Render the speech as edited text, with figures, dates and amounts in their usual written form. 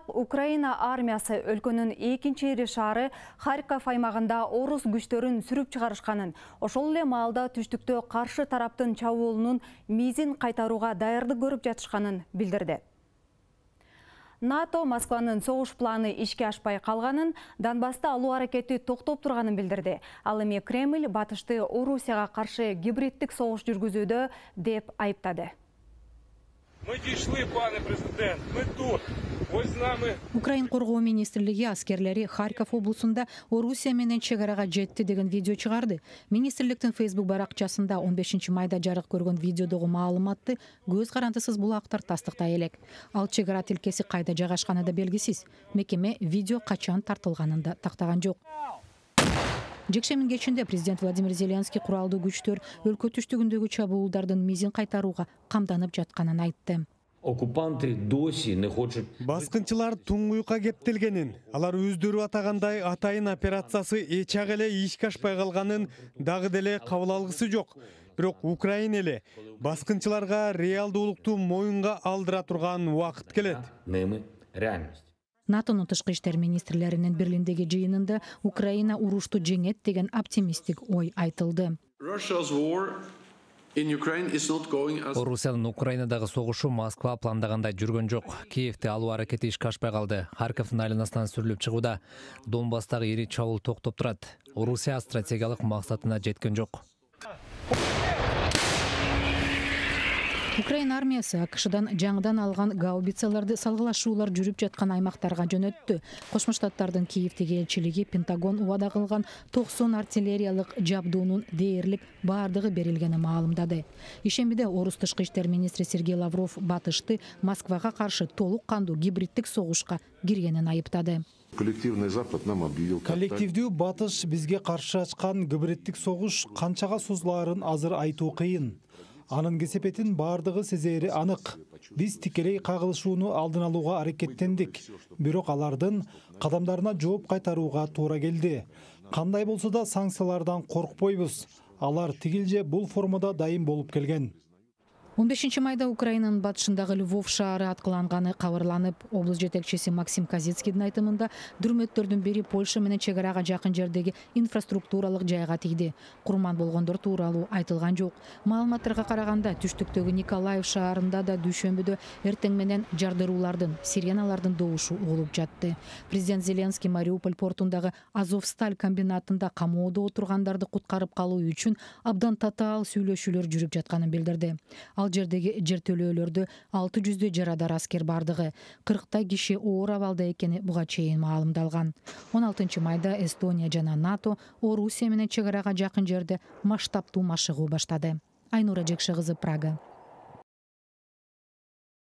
Украина армиясы өлкөнүн экинчи ири шаары Харьков аймагында орус күчтөрүн сүрүп чыгарышканын, ошол эле маалда түштүктө каршы тараптын чабуулунун мизин кайтарууга даярдык көрүп жатышканын билдирди. НАТО Москванын согуш планы ишке ашпай калганын, Донбасста алуу аракети токтоп турганын билдирди. Ал эми Кремль батышты Орусияга каршы гибриддик согуш жүргүзүүдө деп айыптады. Мы дошли, пане президент, мы тут. Ось з нами. Украин коргоо министрлиги аскерлери Харьков облусунда Орусия менен чегарага жетти деген видео чыгарды. Министрликтин Facebook баракчасында 15 майда жарык көргөн видеодогу маалыматты көз карандысыз булактар тастыктай элек. Ал чегара тилкеси кайда жайгашканы да белгисиз. Мекеме видео качан тартылганын да тактаган жок. Жекшемин кечинде президент Владимир Зеленский куралдуу күчтөр өлкө түштүгүндөгү чабуулдардын мизин кайтарууга камданып жатканын айтты. Оккупанты доси не хочет. Баскынчылар туңгуйка кептелгенин, алар өздөрү атагандай атайын операциясы эчак эле ишке ашпай калганын дагы деле кабыл алгысы жок. Бирок Украина эле баскынчыларга реалдуулукту моюнга алдыра турган убакыт келет. Реальность. НАТОнун тышкы иштер министрлеринин Берлиндеги жыйынында Украина урушту жеңет деген оптимисттик ой айтылды. Орусиянын Украинадагы согушу Москва пландагандай жүргөн жок. Киевди алуу аракети ишке ашпай калды. Харьковдун айланасынан сүрүлүп чыгууда. Донбасстагы ири чабуул токтоп турат. Орусия стратегиялык максатына жеткен жок. Украина армиясы АКШдан жаңыдан алган гаубицаларды салгылашуулар жүрүп жаткан аймактарга жөнөттү. Кошмо Штаттардын Киевдеги элчилиги Пентагон убада кылган 90 артиллериялык жабдуунун дээрлик бардыгы берилгени маалымдады. Ишембиде орус тышкы иштер министри Сергей Лавров батышты Москвага каршы толук кандуу гибриддик согушка киргенин айыптады. Коллективдүү батыш бизге каршы ачкан гибриддик согуш канчага созулаарын азыр айтуу кыйын. Анын кесепетин бардыгы сезери анык. Биз тикелей кагылышууну алдын алууга аракеттендик. Бирок алардын кадамдарына жооп кайтарууга туура келди. Кандай болсо да санкциялардан коркпойбуз. Алар тигил же бул формада дайым болуп келген. 15 майда Украинанын батышындагы Львов шаары аткыланганы кабарланып, облус жетекчиси Максим Казицкийдин айтымында дүрмөттөрдүн бири Польша менен чегарага жакын жердеги инфраструктуралык жайга тийди. Курман болгондор тууралуу айтылган жок. Маалыматтарга караганда түштүктөгү Николаев шаарында да дүйшөмбүдө эртең менен жардыруулардын, сиреналардын добушу угулуп жатты. Президент Зеленский Мариуполь портундагы Азовсталь комбинатында камоодо отургандарды куткарып калуу үчүн абдан татаал сүйлөшүүлөр жүрүп жатканын билдирди. Ал жердеги жертөлөөлөрдө 600 жарадар аскер бардыгы, 40 киши оор абалда экени буга чейин маалымдалган. 16 майда Эстония жана НАТО Орусия менен чегарага жакын жерде масштабтуу машыгуу баштады. Айнура Жекши кызы, Прага.